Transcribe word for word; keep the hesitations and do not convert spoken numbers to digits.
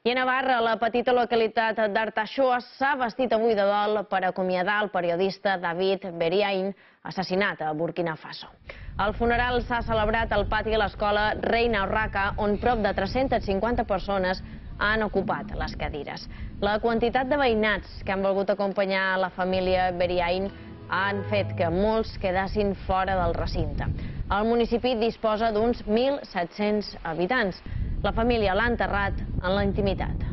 I a Navarra, la petita localitat d'Artaxoa s'ha vestit avui de dol per acomiadar el periodista David Beriain, assassinat a Burkina Faso. El funeral s'ha celebrat al pati de l'escola Reina Urraca, on prop de tres-centes cinquanta persones han ocupat les cadires. La quantitat de veïnats que han volgut acompanyar la família Beriain han fet que molts quedassin fora del recinte. El municipi disposa d'uns mil set-cents habitants. La família l'ha enterrat en la intimitat.